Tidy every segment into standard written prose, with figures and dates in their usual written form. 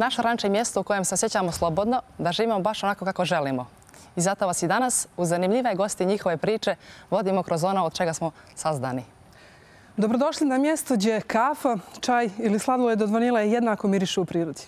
Naše ranče je mjesto u kojem se osjećamo slobodno, da živimo baš onako kako želimo. I zato vas i danas, uz zanimljive gosti i njihove priče, vodimo kroz ono od čega smo sazdani. Dobrodošli na mjesto gdje kafa, čaj ili sladoled od vanile jednako mirišu u prirodi.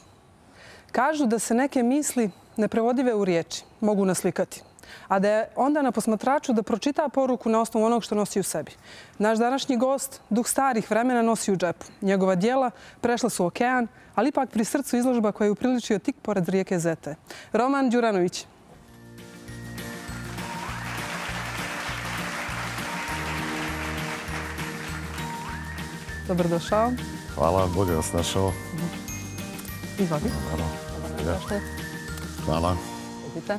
Kažu da se neke misli neprevodive u riječi mogu naslikati, a da je onda na posmatraču da pročita poruku na osnovu onog što nosi u sebi. Naš današnji gost duh starih vremena nosi u džepu. Njegova djela prešla su okean, ali ipak pri srcu izložba koja je upriličio tik pored rijeke Zete. Roman Đuranović. Dobrodošao. Hvala, bolje vas našao. Izvoli. Hvala. Vidite.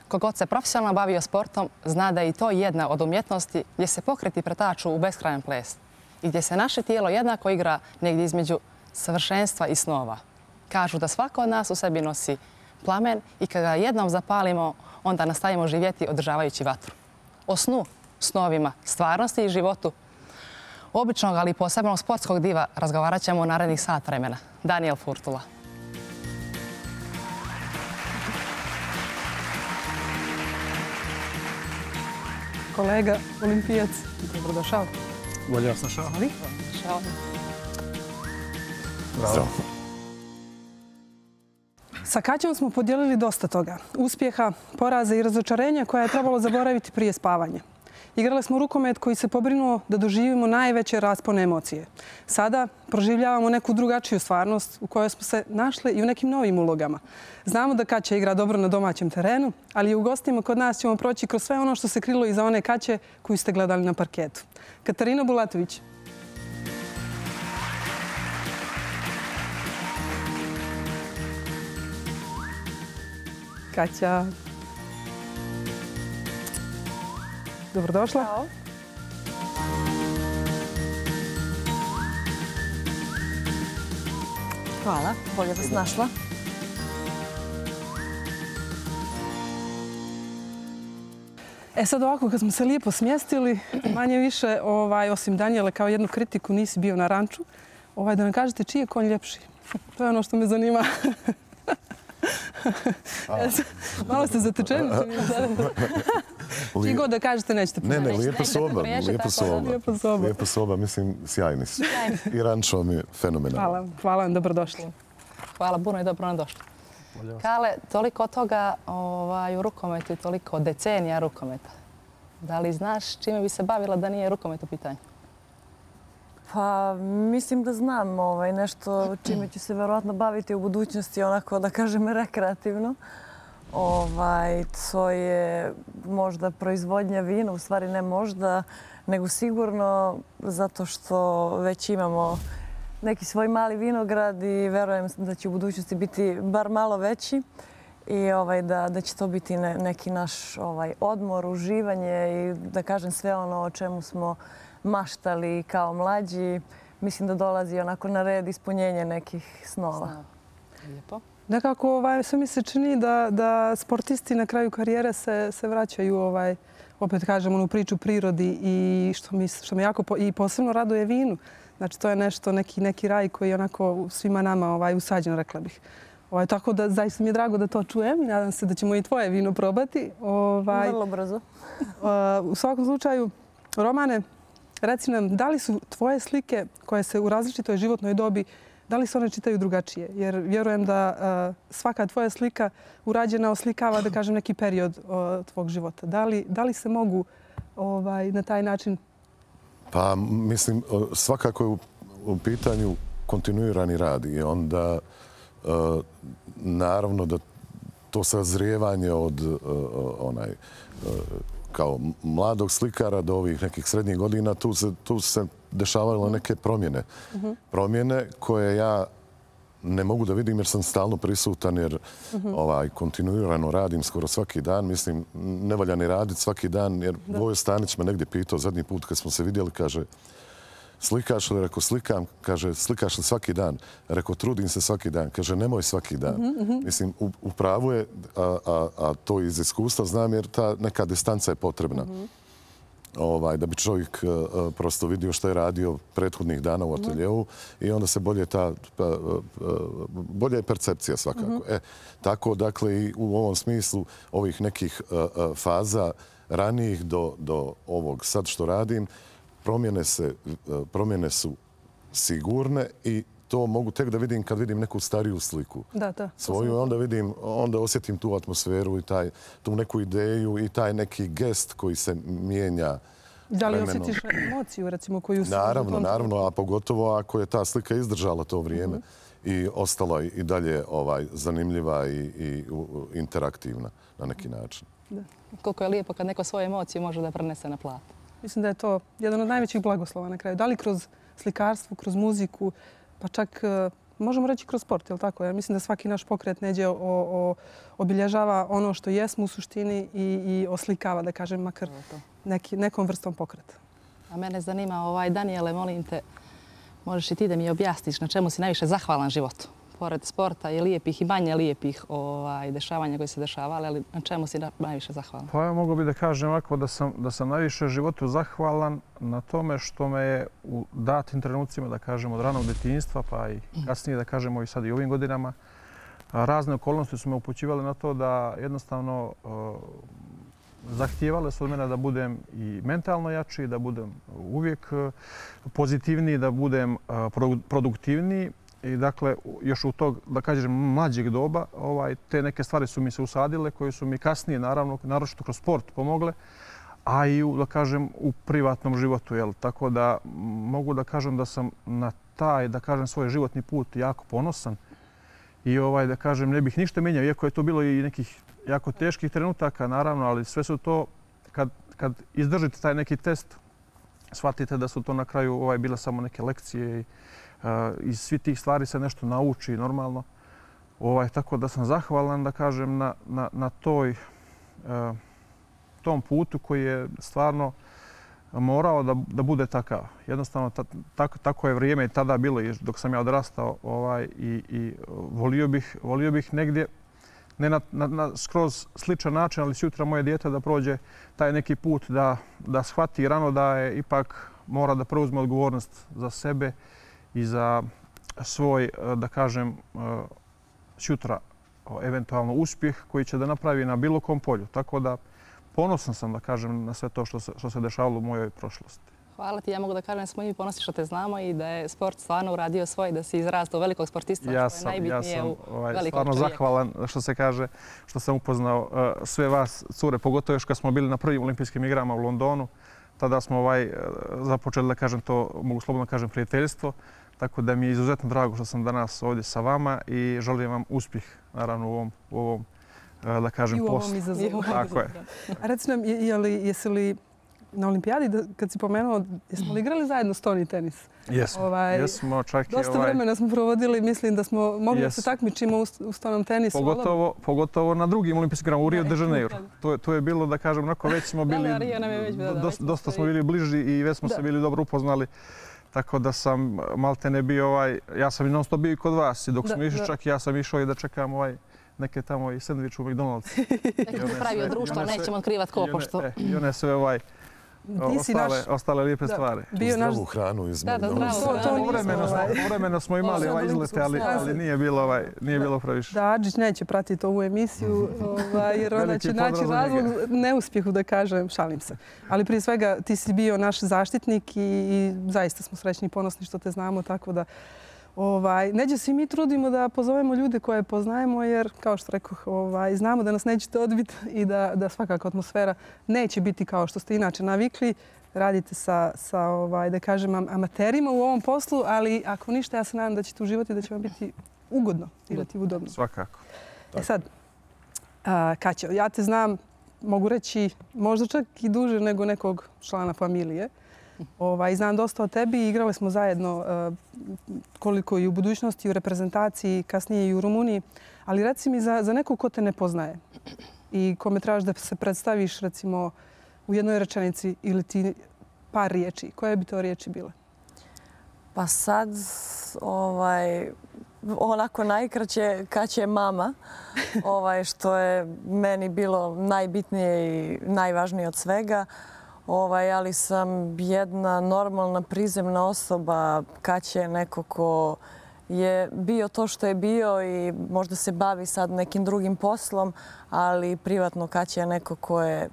Kogod se profesionalno bavio sportom, zna da je i to jedna od umjetnosti gdje se pokreti pretaču u beskrajan ples i gdje se naše tijelo jednako igra negdje između savršenstva i snova. Kažu da svako od nas u sebi nosi plamen i kada ga jednom zapalimo, onda nastavimo živjeti održavajući vatru. O snu, snovima, stvarnosti i životu običnog, ali i posebnog sportskog diva razgovarat ćemo u narednih sat vremena. Daniel Furtula. Kolega, olimpijac. Dobrodošao. Bolje vas našao. Dobrodošao. Zdravo. Sa Kaćom smo podijelili dosta toga. Uspjeha, poraza i razočarenja koja je trebalo zaboraviti prije spavanja. Igrali smo rukomet koji se pobrinuo da doživimo najveće raspone emocije. Sada proživljavamo neku drugačiju stvarnost u kojoj smo se našli i u nekim novim ulogama. Znamo da Kaća igra dobro na domaćem terenu, ali i u gostima kod nas ćemo proći kroz sve ono što se krilo iza one Kaće koju ste gledali na parketu. Katarina Bulatović. Kaća. Dobrodošla. Ćao. Hvala, bolje vas našla. Sad ovako, kad smo se lijepo smjestili, manje više, osim Danijele, kao jednu kritiku, nisi bio na ranču, da nam kažete čiji je konj ljepši. To je ono što me zanima. Malo ste zatečeni. Čiji god da kažete, nećete Ne, lijepa soba. Lijepa soba, mislim, sjajni su. I rančo mi je fenomenalno. Hvala vam, dobrodošli. Hvala, puno i dobro nam došli. Kale, toliko toga u rukometu i toliko decenija rukometa. Da li znaš čime bi se bavila da nije rukomet u pitanju? Pa mislim da znam nešto čime ću se verovatno baviti u budućnosti, onako da kažem rekreativno. To je možda proizvodnja vina, u stvari ne možda, nego sigurno zato što već imamo neki svoj mali vinograd i verujem da će u budućnosti biti bar malo veći i da će to biti neki naš odmor, uživanje i da kažem sve ono o čemu smo maštali kao mlađi. Mislim da dolazi onako na red ispunjenje nekih snova. Lijepo. Nekako sve mi se čini da sportisti na kraju karijere se vraćaju, opet kažem, u priču prirodi i što me jako i posebno raduje vinu. Znači, to je nešto, neki raj koji je onako svima nama usađen, rekla bih. Tako da zaista mi je drago da to čujem i nadam se da ćemo i tvoje vino probati. Vrlo brzo. U svakom slučaju, Romane, reci nam, da li su tvoje slike koje se u različitoj životnoj dobi, da li se one čitaju drugačije? Jer vjerujem da svaka tvoja slika urađena oslikava, da kažem, neki period tvog života. Da li se mogu na taj način? Pa, mislim, svakako je u pitanju kontinuirani rad i onda naravno da to sazrijevanje od kao mladog slikara do ovih nekih srednjih godina, tu se dešavale neke promjene. Promjene koje ja ne mogu da vidim jer sam stalno prisutan jer kontinuirano radim skoro svaki dan. Mislim, ne valja ni raditi svaki dan jer Vojo Stanić me negdje pitao zadnji put kad smo se vidjeli, kaže, slikaš li? Rekao, slikam. Kaže, slikaš li svaki dan? Rekao, trudim se svaki dan. Kaže, nemoj svaki dan. Mislim, u pravu je, a to iz iskustva znam jer ta neka distanca je potrebna. da bi čovjek prosto vidio što je radio prethodnih dana u ateljeu i onda se bolja je percepcija svakako. Tako, dakle, i u ovom smislu ovih nekih faza ranijih do ovog sad što radim, promjene su sigurne i to mogu tek da vidim kad vidim neku stariju sliku svoju. Onda osjetim tu atmosferu i tu neku ideju i taj neki gest koji se mijenja. Da li osjetiš emociju, recimo, koju se... Naravno, a pogotovo ako je ta slika izdržala to vrijeme i ostala i dalje zanimljiva i interaktivna na neki način. Koliko je lijepo kad neko svoje emocije može da prenese na plat. Mislim da je to jedan od najvećih blagoslova na kraju. Da li kroz slikarstvo, kroz muziku, pa čak možemo reći kroz sport, je li tako? Jer mislim da svaki naš pokret neđe obilježava ono što jesmo u suštini i oslikava, da kažem, makar nekom vrstom pokreta. A mene zanima, Danijele, molim te, možeš i ti da mi objasniš na čemu si najviše zahvalan životu? Pored sporta i lijepih i manje lijepih dešavanja koji se dešavali, ali na čemu si najviše zahvalan? Pa ja mogu bi da kažem ovako da sam najviše životu zahvalan na tome što me je u datim trenucima, da kažem, od ranog djetinjstva, pa i kasnije, da kažemo i sad i ovim godinama, razne okolnosti su me upućivale na to da jednostavno zahtijevale su od mene da budem i mentalno jači, da budem uvijek pozitivniji, da budem produktivniji. I dakle, još u tog, da kažem, mlađeg doba, te neke stvari su mi se usadile, koje su mi kasnije, naravno, naročito kroz sport pomogle, a i, da kažem, u privatnom životu. Tako da mogu da kažem da sam na taj, da kažem, svoj životni put jako ponosan i, da kažem, ne bih ništa menjao, iako je to bilo i nekih jako teških trenutaka, naravno, ali sve su to, kad izdržite taj neki test, shvatite da su to na kraju bile samo neke lekcije i iz svih tih stvari se nešto nauči normalno. Tako da sam zahvalan, da kažem, na tom putu koji je stvarno morao da bude takav. Jednostavno, tako je vrijeme i tada bilo dok sam ja odrastao i volio bih negdje, ne na skroz sličan način, ali sutra moje dijete da prođe taj neki put, da shvati rano da je ipak mora da preuzme odgovornost za sebe i za svoj, da kažem, sutra eventualno uspjeh koji će da napravi na bilo kom polju. Tako da ponosan sam, da kažem, na sve to što se dešavalo u mojoj prošlosti. Hvala ti. Ja mogu da kažem da smo i ponosni što te znamo i da je sport stvarno uradio svoj, da si izrastao velikog sportista, što je najbitnije u velikog čovjeka. Ja sam stvarno zahvalan, što se kaže, što sam upoznao sve vas, cure, pogotovo još kad smo bili na prvim olimpijskim igrama u Londonu. Tada smo započeli, da kažem, to mogu slobodno kažem, prijateljstvo. Tako da mi je izuzetno drago što sam danas ovdje sa vama i želim vam uspjeh, naravno, u ovom, da kažem, poslu. I u ovom izazovu. Tako je. A reci nam, jesi li na olimpijadi, kad si pomenuo, jesmo li igrali zajedno stoni tenis? Jesmo, čak i dosta vremena smo provodili, mislim da smo mogli da se takmičimo u stonom tenisu. Pogotovo na drugim olimpijskim igrama u Rio de Janeiro. To je bilo, da kažem, onako već smo bili, dosta smo bili bliži i već smo se bili dobro upoznali. Tako da sam maltene bio, ja sam i non stop bio i kod vas i dok smo išli čak ja sam išao i da čekam neke tamo i sendvič u McDonald's. Neko se pravio društvo, nećemo otkrivat ko pošto. I one sve ostale lijepe stvari. Zdravu hranu iz McDonald'sa. Povremeno smo imali izlete, ali nije bilo previše. Da, Adžić neće pratiti ovu emisiju jer ona će naći razlog neuspjehu, da kažem, šalim se. Ali prije svega ti si bio naš zaštitnik i zaista smo srećni i ponosni što te znamo, tako da neđe se i mi trudimo da pozovemo ljude koje poznajemo jer, kao što rekoh, znamo da nas nećete odbiti i da svakako atmosfera neće biti kao što ste inače navikli. Radite sa da kažem, amaterima u ovom poslu, ali ako ništa, ja se nadam da ćete uživati i da će vam biti ugodno igrati udobno. Svakako. Sad, Kaća, ja te znam, mogu reći, možda čak i duže nego nekog člana familije. Znam dosta o tebi, igrali smo zajedno koliko i u budućnosti, u reprezentaciji, kasnije i u Rumuniji. Ali reci mi za nekog ko te ne poznaje i kome trebaš da se predstaviš recimo u jednoj rečenici ili ti par riječi, koje bi to riječi bile? Pa sad, onako najkraće, Kaća je mama, što je meni bilo najbitnije i najvažnije od svega. ali sam jedna normalna, prizemna osoba. Kaća je neko ko je bio to što je bio i možda se bavi sad nekim drugim poslom, ali privatno Kaća je neko ko je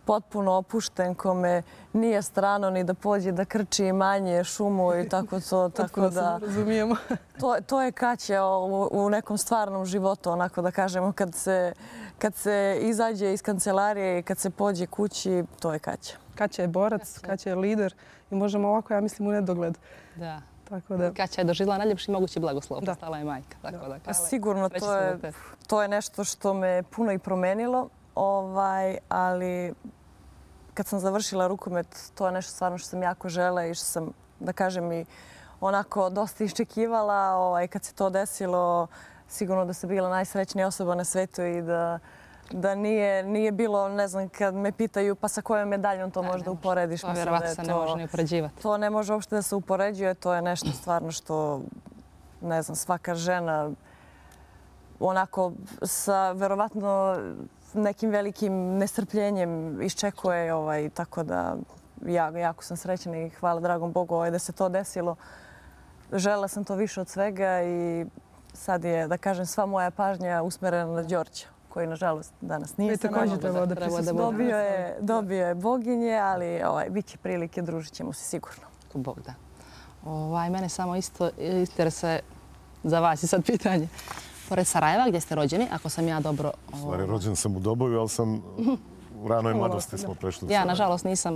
potpuno opušten, kome nije strano ni da pođe da krči imanje, šumu i tako to. Tako da razumijemo. To je Kaća u nekom stvarnom životu, onako da kažemo, kad se izađe iz kancelarije i kad se pođe kući, to je Kaća. Kaća je borac, Kaća je lider i možemo ovako, ja mislim, u nedogled. Da. Tako da... Kaća je doživjela najljepši mogući blagoslov. Postala je majka. Sigurno, to je nešto što me puno i promenilo. Ali kad sam završila rukomet, to je nešto stvarno što sam jako žela i što sam, da kažem, i onako dosta iščekivala. Kad se to desilo, sigurno da sam bila najsrećnija osoba na svetu i da nije bilo, ne znam, kad me pitaju pa sa kojom medaljom to možda uporediš. To vjerovatno se ne može ni upoređivati. To ne može uopšte da se upoređuje, to je nešto stvarno što, ne znam, svaka žena onako sa verovatno nekim velikim nestrpljenjem iščekuje, tako da jako sam srećna i hvala dragom Bogu da se to desilo. Želela sam to više od svega i sad je, da kažem, sva moja pažnja usmerena na Đorđa, koji nažalost danas nije sa nama. Dobio je boginje, ali bit će prilike, družit ćemo se sigurno. Bog da. Mene samo isto interesuje za vas i sad pitanje. Pored Sarajeva, gdje ste rođeni, ako sam ja dobro... Stvari, rođen sam u Doboju, ali sam u ranoj mladosti smo prešli u Sarajevo. Ja, nažalost, nisam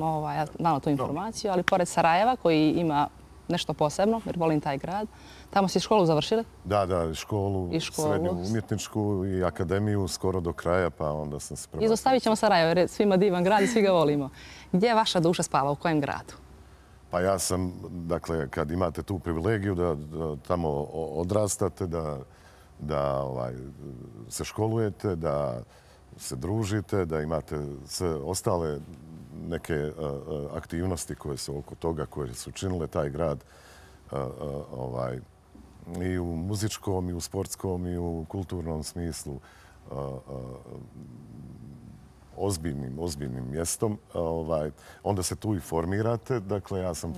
znala tu informaciju, ali pored Sarajeva, koji ima nešto posebno, jer volim taj grad, tamo si školu završili? Da, školu, srednju umjetničku i akademiju skoro do kraja, pa onda sam se prebacio. Izostavit ćemo Sarajevo, jer je svima divan grad i svi ga volimo. Gdje vaša duša spava, u kojem gradu? Pa ja sam, dakle, kad imate tu privilegiju da tamo odrastate, da se školujete, da se družite, da imate sve ostale neke aktivnosti koje su oko toga, koje su činile taj grad i u muzičkom, i u sportskom, i u kulturnom smislu ozbiljnim mjestom. Onda se tu i formirate. Dakle, ja sam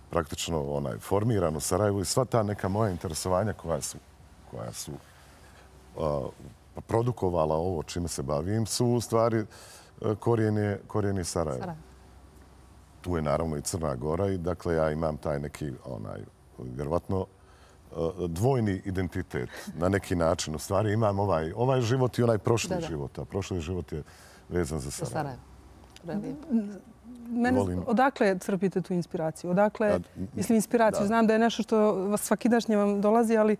praktično formiran u Sarajevu i sva ta neka moja interesovanja koja su produkovala ovo čime se bavim su u stvari korijeni Sarajeva. Tu je naravno i Crna Gora i dakle ja imam taj neki vjerovatno dvojni identitet na neki način. U stvari imam ovaj život i onaj prošli život, a prošli život je vezan za Sarajevo. Odakle crpite tu inspiraciju? Odakle, inspiraciju? Znam da je nešto što vas svakidašnje vam dolazi, ali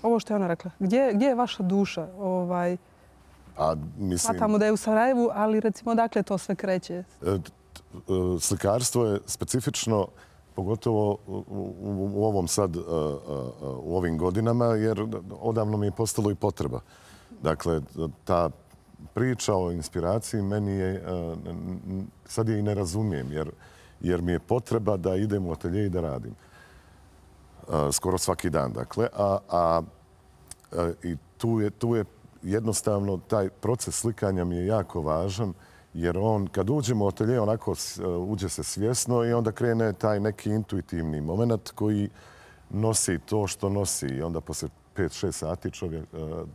ovo što je ona rekla. Gdje je vaša duša? Smatamo da je u Sarajevu, ali recimo odakle to sve kreće? Slikarstvo je specifično, pogotovo u ovom sad, u ovim godinama, jer odavno mi je postalo i potreba. Dakle, ta priča o inspiraciji meni je, sad je i ne razumijem, jer mi je potreba da idem u atelje i da radim. Skoro svaki dan, dakle. I tu je jednostavno taj proces slikanja mi je jako važan, jer kad uđemo u atelje, onako uđe se svjesno i onda krene taj neki intuitivni moment koji nosi to što nosi. I onda posle 5-6 sati čovjek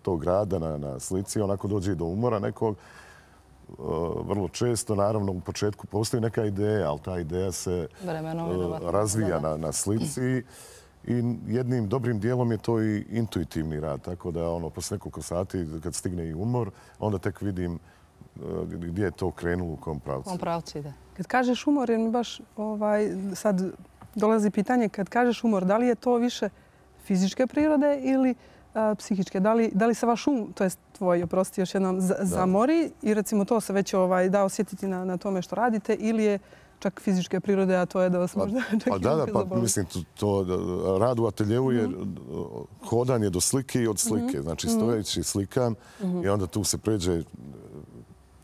tog rada na slici, onako dođe i do umora nekog. Vrlo često, naravno, u početku postoji neka ideja, ali ta ideja se razvija na slici. I jednim dobrim dijelom je to i intuitivni rad. Tako da posle nekoliko sati, kad stigne i umor, onda tek vidim gdje je to krenulo, u kom pravcu. U kom pravcu ide. Kad kažeš umor, jer mi baš sad dolazi pitanje, kad kažeš umor, da li je to više fizičke prirode ili psihičke? Da li se vaš to je tvoj, oprosti još jednom, zamori i recimo to se već da osjetiti na tome što radite ili je čak fizičke prirode, a to je da vas možda čak i zaboli? Mislim, rad u ateljevu je hodanje do slike i od slike. Znači, stojeći slikam i onda tu se pređe...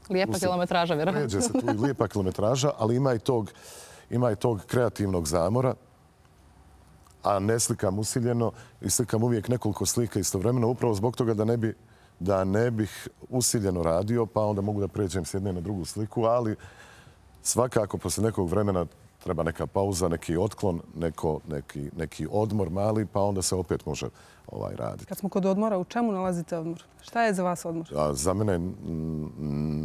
Lijepa kilometraža, vjerovatno. Pređe se tu i lijepa kilometraža, ali ima i tog kreativnog zamora, a ne slikam usiljeno i slikam uvijek nekoliko slika istovremeno, upravo zbog toga da ne bi da ne bih usiljeno radio, pa onda mogu da pređem s jedne na drugu sliku, ali svakako posle nekog vremena treba neka pauza, neki otklon, neki odmor mali, pa onda se opet može raditi. Kad smo kod odmora, u čemu nalazite odmor? Šta je za vas odmor? Za mene je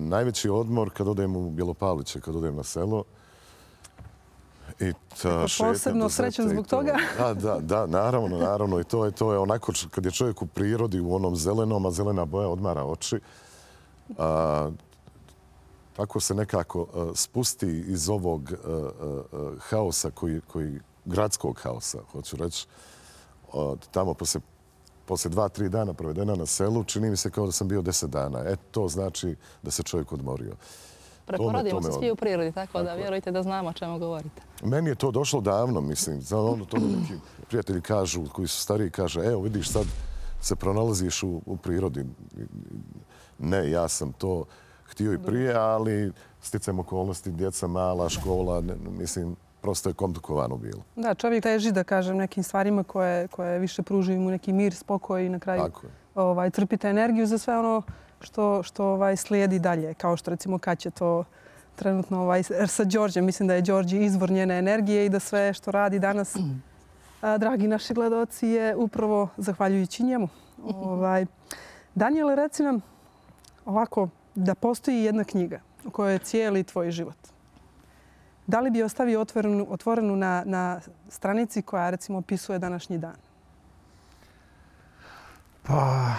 najveći odmor kad odem u Bjelopaliće, kad odem na selo. Posebno srećan zbog toga? Da, naravno. I to je onako kad je čovjek u prirodi, u onom zelenom, a zelena boja odmara oči. Tako se nekako spusti iz ovog haosa, gradskog haosa, hoću reći. Tamo poslije 2-3 dana provedena na selu, čini mi se kao da sam bio 10 dana. To znači da se čovjek odmorio. Preporodimo se svi u prirodi, tako da vjerujte da znamo o čemu govorite. Meni je to došlo davno, mislim. To neki prijatelji kažu, koji su stariji, kaže, evo vidiš sad se pronalaziš u prirodi. Ne, ja sam to htio i prije, ali sticajem okolnosti, djeca mala, škola, mislim, prosto je komplikovano bilo. Da, čovjek teži, da kažem, nekim stvarima koje više pružuju mu neki mir, spokoj i na kraju crpite energiju za sve ono što slijedi dalje. Kao što recimo kad će to trenutno sa Đorđem. Mislim da je Đorđe izvor njene energije i da sve što radi danas, dragi naši gledaoci, je upravo zahvaljujući njemu. Danijele, reci nam ovako, da postoji jedna knjiga u kojoj je cijeli tvoj život. Da li bi ostavio otvorenu na stranici koja, recimo, opisuje današnji dan? Pa,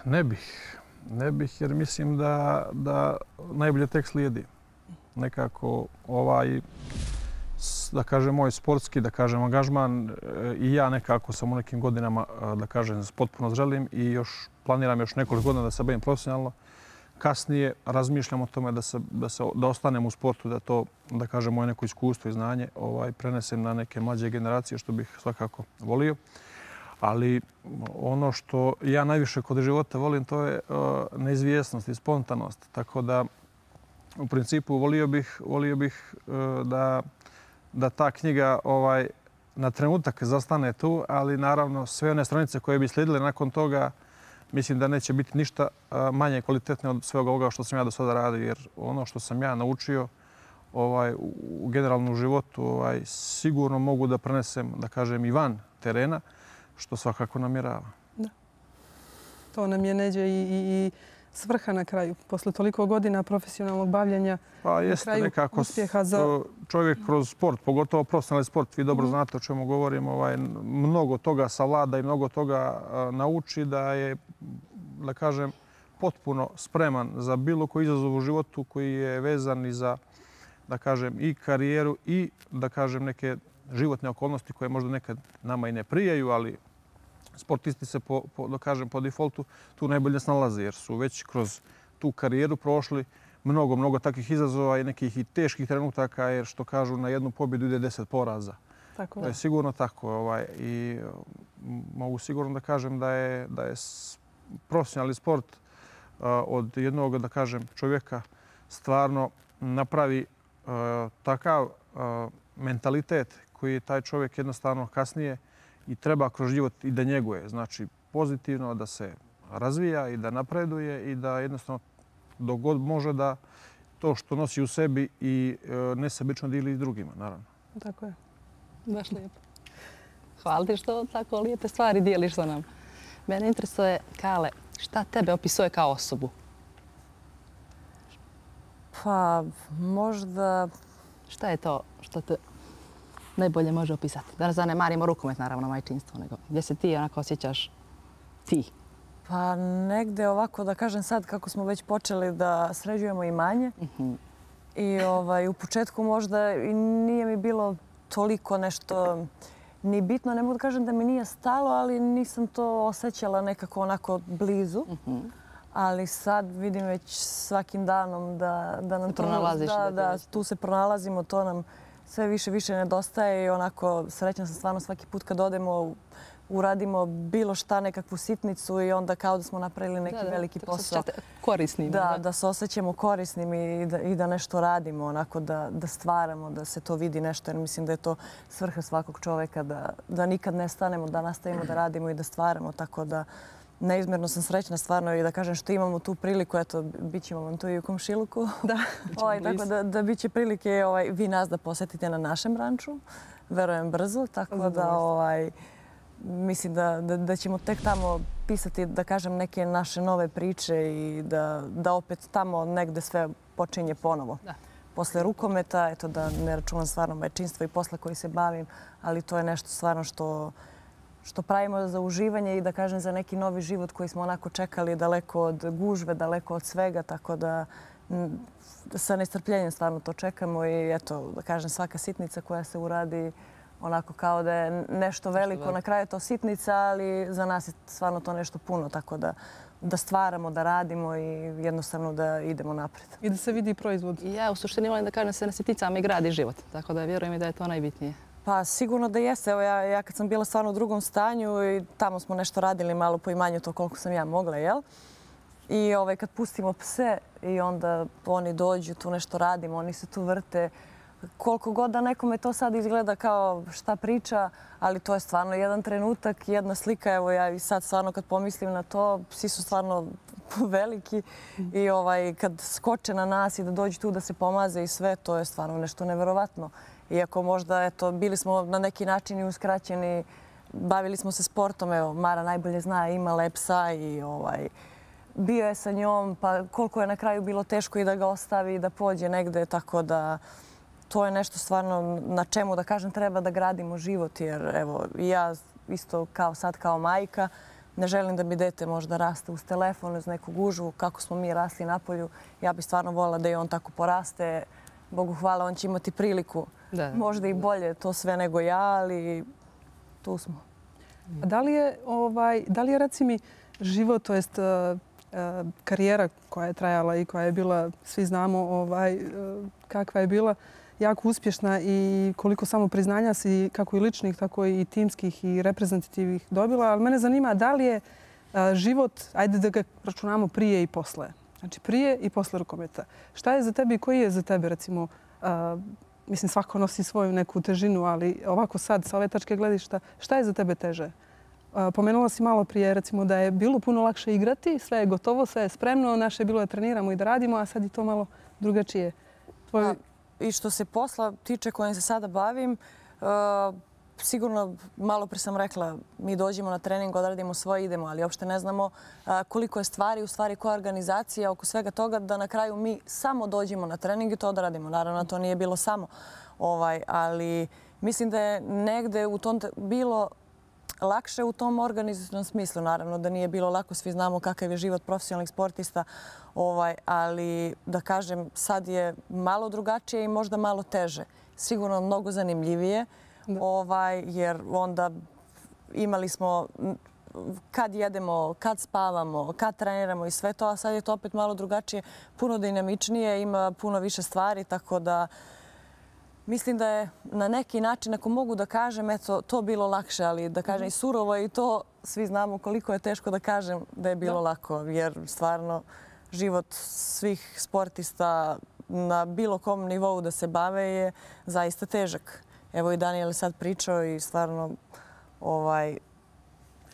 ne bih. Ne bih, jer mislim da najbolje tek slijedi. Nekako da kažem, moj sportski, da kažem, angažman i ja nekako sam u nekim godinama, da kažem, potpuno zrelim i još planiram još nekoliko godina da se bavim profesionalno. Kasnije razmišljam o tome da ostanem u sportu, da to, da kažem, moje neko iskustvo i znanje prenesem na neke mlađe generacije, što bih svakako volio. Ali ono što ja najviše kod života volim, to je neizvjesnost i spontanost. Tako da, u principu, volio bih da ta knjiga na trenutak zastane tu, ali naravno sve one stranice koje bi slijedile nakon toga, mislim da neće biti ništa manje kvalitetne od svega ovoga što sam ja do sada radio, jer ono što sam ja naučio u generalnom životu sigurno mogu da prenesem, da kažem, i van terena, što svakako namjerava. Da. To nam je Neđe i svrha na kraju. Posle toliko godina profesionalnog bavljenja, na kraju uspjeha za... Čovjek kroz sport, pogotovo profesionalni sport, vi dobro znate o čemu govorim, mnogo toga savlada i mnogo toga nauči da je, da kažem, potpuno spreman za bilo koji izazov u životu koji je vezan i za, da kažem, i karijeru i, da kažem, neke životne okolnosti koje možda nekad nama i ne prijaju, ali sportisti se, da kažem, po defaultu tu najbolje snalaze jer su već kroz tu karijeru prošli mnogo takvih izazova i nekih i teških trenutaka, jer što kažu, na jednu pobjedu ide 10 poraza. To je sigurno tako. I mogu sigurno da kažem da je profesionalni sport od jednog, da kažem, čovjeka stvarno napravi takav mentalitet koji taj čovjek jednostavno kasnije i treba kroz život i da njeguje. Znači, pozitivno da se razvija i da napreduje i da jednostavno dok god može da to što nosi u sebi i nesebično dili s drugima, naravno. Tako je. Baš lijepo. Hvala ti što tako lijepe stvari dijeliš sa nam. Mene interesuje, Kale, šta tebe opisuje kao osobu? Pa, možda... Šta je to što te najbolje može opisati? Da ne zanemarimo rukomet, naravno, majčinstvo, nego gdje se ti onako osjećaš ti? Pa negde ovako, da kažem sad, kako smo već počeli da sređujemo imanje. I u početku možda i nije mi bilo toliko nešto ni bitno. Ne mogu da kažem da mi nije stalo, ali nisam to osjećala nekako onako blizu. Ali sad vidim već svakim danom da nam to... Da, tu se pronalazimo, to nam sve više nedostaje i onako srećna sam stvarno svaki put kad odemo, uradimo bilo šta, nekakvu sitnicu i onda kao da smo napravili neki veliki posao. Korisnim. Da se osjećamo korisnim i da nešto radimo, onako da stvaramo, da se to vidi nešto. Jer mislim da je to svrha svakog čoveka, da nikad ne stanemo, da nastavimo da radimo i da stvaramo. Tako da neizmjerno sam srećna stvarno i da kažem što imamo tu priliku, eto, bit ćemo vam tu i u komšiluku. Da, tako da bit će prilike vi nas da posetite na našem ranču, verujem brzo, tako da mislim da ćemo tek tamo pisati, da kažem, neke naše nove priče i da opet tamo negde sve počinje ponovo. Posle rukometa, eto da ne računam stvarno majčinstvo i posla koji se bavim, ali to je nešto stvarno što pravimo za uživanje i da kažem za neki novi život koji smo onako čekali daleko od gužve, daleko od svega, tako da sa nestrpljenjem stvarno to čekamo i eto, da kažem, svaka sitnica koja se uradi onako kao da je nešto veliko. Na kraju je to sitnica, ali za nas je stvarno to nešto puno, tako da stvaramo, da radimo i jednostavno da idemo napred. I da se vidi proizvod. Ja u suštini volim da kažem se na sitnicama i gradi život, tako da vjerujem i da je to najbitnije. Pa sigurno da jeste. Evo ja kad sam bila stvarno u drugom stanju i tamo smo nešto radili malo po imanju to koliko sam ja mogla, jel? I kad pustimo pse i onda oni dođu, tu nešto radimo, oni se tu vrte. Koliko god da nekome to sad izgleda kao šta priča, ali to je stvarno jedan trenutak, jedna slika. Evo ja i sad stvarno kad pomislim na to, psi su stvarno veliki i kad skoče na nas i da dođu tu da se pomaze i sve, to je stvarno nešto neverovatno. Iako možda, eto, bili smo na neki način i uskraćeni, bavili smo se sportom, evo, Mara najbolje zna, imala je psa i bio je sa njom, pa koliko je na kraju bilo teško i da ga ostavi i da pođe negde, tako da to je nešto stvarno na čemu, da kažem, treba da gradimo život, jer evo, ja isto sad kao majka, ne želim da mi dete možda raste uz telefon, uz neku gužvu, kako smo mi rasli napolju. Ja bih stvarno voljela da i on tako poraste. Bogu hvala, on će imati priliku. Možda i bolje to sve nego ja, ali tu smo. A da li je, reci mi, život, to jest karijera koja je trajala i koja je bila, svi znamo kakva je bila, jako uspješna i koliko samo priznanja si kako i ličnih, tako i timskih i reprezentativnih dobila. Ali mene zanima da li je život, ajde da ga računamo prije i posle. Znači prije i posle rukometa. Šta je za tebe i koji je za tebe, recimo, mislim svako nosi svoju neku težinu, ali ovako sad sa ove tačke gledišta, šta je za tebe teže? Pomenula si malo prije, recimo, da je bilo puno lakše igrati, sve je gotovo, sve je spremno, naše je bilo da treniramo i da radimo, a sad je to malo drugačije. I što se posla tiče kojim se sada bavim, sigurno, malo pre sam rekla, mi dođemo na trening, odradimo svoje, idemo, ali uopšte ne znamo koliko je stvari, u stvari koja je organizacija oko svega toga, da na kraju mi samo dođemo na trening i to odradimo. Naravno, to nije bilo samo, ali mislim da je negde u tom bilo lakše u tom organizacijnom smislu. Naravno da nije bilo lako, svi znamo kakav je život profesionalnih sportista, ali da kažem sad je malo drugačije i možda malo teže. Sigurno mnogo zanimljivije, jer onda imali smo kad jedemo, kad spavamo, kad treniramo i sve to, a sad je to opet malo drugačije, puno dinamičnije, ima puno više stvari, tako da mislim da je na neki način, ako mogu da kažem, eto, to bilo lakše, ali da kažem i surovo i to svi znamo koliko je teško da kažem da je bilo lako, jer stvarno život svih sportista na bilo kom nivou da se bave je zaista težak. Evo i Daniel je sad pričao i stvarno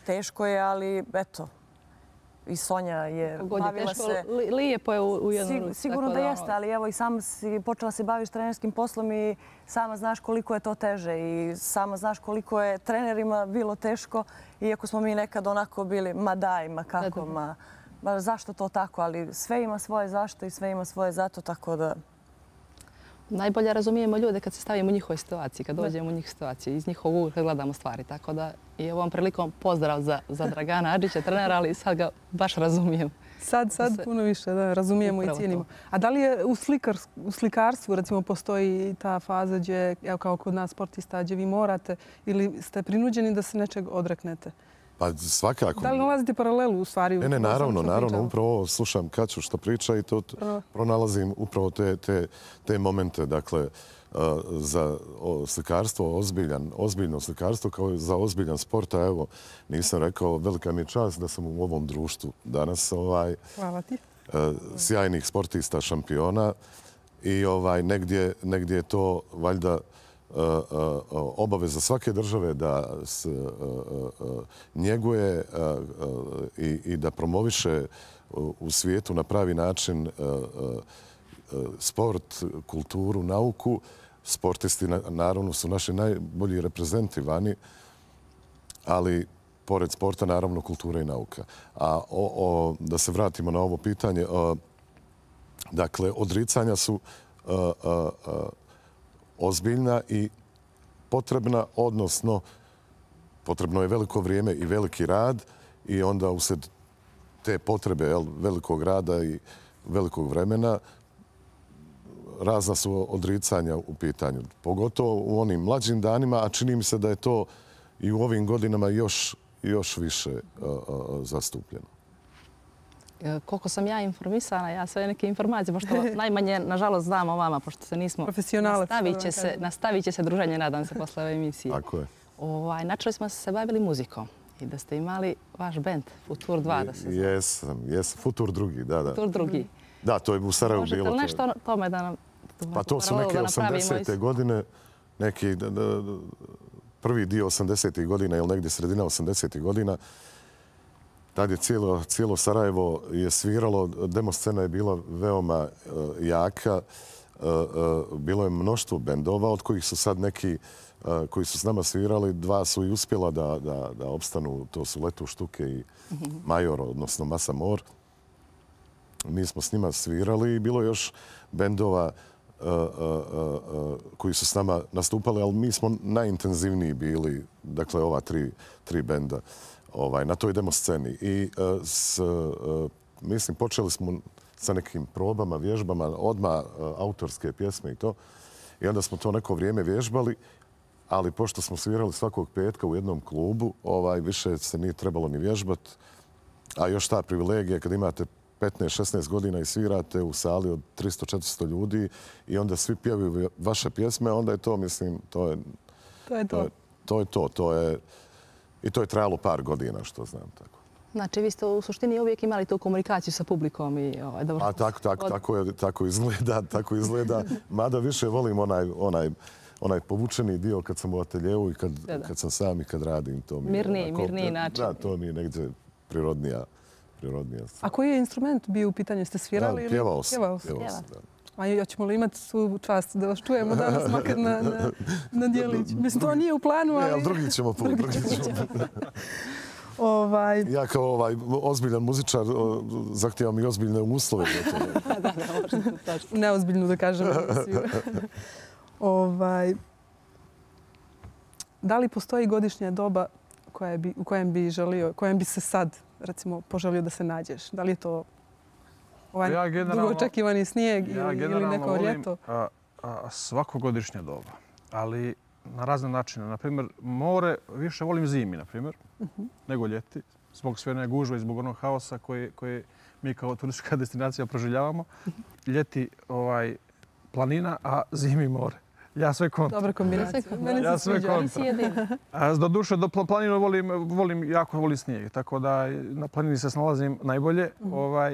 teško je, ali eto, i Sonja je bavila se... Lijepo je u jednom... Sigurno da jeste, ali evo i sama si počela se baviš trenerskim poslom i sama znaš koliko je to teže i sama znaš koliko je trenerima bilo teško, iako smo mi nekad onako bili, ma daj, ma kako, ma zašto to tako, ali sve ima svoje zašto i sve ima svoje zato, tako da... Najbolje razumijemo ljude kad se stavimo u njihovoj situaciji, kad dođemo u njih situaciju, iz njihovog ugla gledamo stvari. Tako da i ovom prilikom pozdrav za Dragana Adžića, trenera, ali sad ga baš razumijem. Sad puno više, da, razumijemo i cijenimo. A da li je u slikarstvu, recimo, postoji ta faza gdje, evo kao kod nas sportista, gdje vi morate ili ste prinuđeni da se nečeg odreknete? Pa svakako. Da li nalazite paralelu u stvari? Ne, naravno. Upravo slušam Kaću što priča i to pronalazim upravo te momente. Dakle, za slikarstvo, ozbiljno slikarstvo kao za ozbiljan sport. A evo, nisam rekao, velika mi je čast da sam u ovom društvu danas. Hvala ti. Sjajnih sportista, šampiona i negdje je to valjda obaveza svake države da njeguje i da promoviše u svijetu na pravi način sport, kulturu, nauku. Sportisti naravno su naši najbolji reprezenti vani, ali pored sporta naravno kultura i nauka. A da se vratimo na ovo pitanje, dakle, odricanja su ozbiljna i potrebna, odnosno potrebno je veliko vrijeme i veliki rad i onda usred te potrebe velikog rada i velikog vremena razna su odricanja u pitanju. Pogotovo u onim mlađim danima, a čini mi se da je to i u ovim godinama još više zastupljeno. Koliko sam ja informisana, ja sve neke informacije, pošto najmanje, nažalost, znam o vama, pošto se nismo... Profesionalac. Nastavit će se druženje, nadam se, posle ove emisije. Tako je. Načeli smo se bavili muzikom i da ste imali vaš band, Futur 2, da se zove. Jesam, Futur 2, da. Futur 2. Da, to je u Sarajevu bilo. Možete li nešto o tome da nam... Pa to su neke 80. godine, neki prvi dio 80. godina ili negdje sredina 80. godina. Tad je cijelo Sarajevo je sviralo, demo scena je bila veoma jaka. Bilo je mnoštvo bendova, od kojih su sad neki koji su s nama svirali. Dva su i uspjela da opstanu, to su Letu Štuke i Major, odnosno Masa Mor. Mi smo s njima svirali i bilo još bendova koji su s nama nastupali, ali mi smo najintenzivniji bili, dakle ova tri benda na toj demo sceni. I mislim, počeli smo sa nekim probama, vježbama, odmah autorske pjesme i to. I onda smo to neko vrijeme vježbali, ali pošto smo svirali svakog petka u jednom klubu, više se nije trebalo ni vježbati. A još ta privilegija kad imate 15-16 godina i svirate u sali od 300-400 ljudi i onda svi pjevaju vaše pjesme, onda je to, mislim, to je to. I to je trajalo par godina, što znam. Tako. Znači, vi ste u suštini uvijek imali tu komunikaciju sa publikom i dobro... Tako izgleda. Mada više volim onaj povučeni dio kad sam u ateljevu i kad sam sam i kad radim. Mirniji način. Da, to mi je negdje prirodnija. A koji je instrument bio u pitanju? Ste svirali? Pjevao sam. A hoćemo li imati svu čast da vas čujemo danas makar na djelić? Mislim, to nije u planu, ali... Drugi ćemo put. Ja kao ozbiljan muzičar zahtijevam i ozbiljne uslove. Neozbiljno da kažem. Da li postoji godišnja doba u kojem bi želio, kojem bi se sad, recimo, poželio da se nađeš? Da li je to dugo očekivani snijeg ili neko ljeto? Svako godišnje doba, ali na razne načine. Naprimjer, more više volim zimi, naprimjer, nego ljeti. Zbog sve one gužve i zbog onog haosa koji mi kao turistička destinacija proživljavamo. Ljeti planina, a zimi more. Ja sve kontra. Dobra kombinacija. Ja sve kontra. Doduše, planinu jako volim snijeg, tako da na planini se snalazim najbolje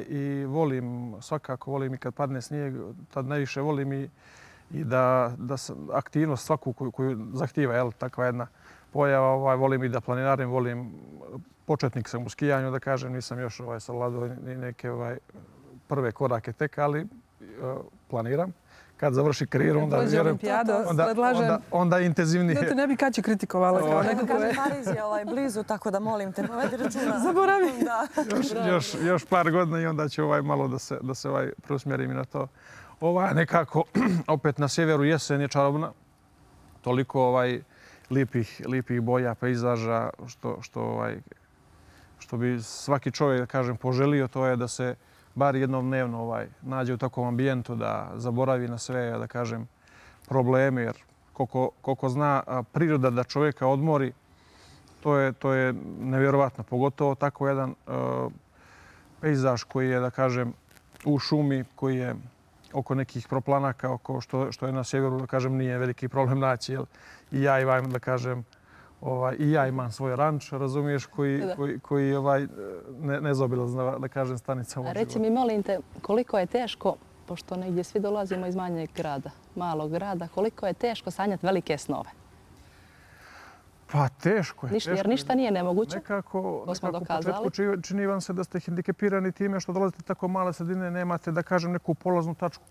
i svakako volim i kad padne snijeg, tad najviše volim i da aktivnost svaku koju zahtijeva takva jedna pojava, volim i da planinarim, volim, početnik sam u skijanju, da kažem, nisam još savladao ni neke prve korake tek, ali planiram. Kad završi karijeru, onda vjerujem, onda intenzivnije. Da te ne bi Kaća kritikovala kao neko koje... Pariz je blizu, tako da molim te, povedi računa. Zaboravi. Još par godina i onda ću malo da se preusmjerim i na to. Nekako, opet na sjeveru jesen je čarobna. Toliko lijepih boja, pejzaža, što bi svaki čovjek, da kažem, poželio, to je da se bar jednom dnevno nađe u takvom ambijentu, da zaboravi na sve, da kažem, probleme, jer koliko zna priroda da čovjeka odmori, to je nevjerovatno. Pogotovo tako jedan pejzaž koji je, da kažem, u šumi, koji je oko nekih proplanaka, oko što je na sjeveru, da kažem, nije veliki problem naći. I ja imam, da kažem, i ja imam svoj ranč, razumiješ, koji nezaobilazna, da kažem, stanica u životu. Reci mi, molim te, koliko je teško pošto negdje svi dolazimo iz manjeg grada, malog grada, koliko je teško sanjati velike snove? Pa teško je. Jer ništa nije nemoguće. Nekako To smo u dokazali. početku čini vam se da ste hendikepirani time što dolazite tako male sredine, nemate, da kažem, neku polaznu tačku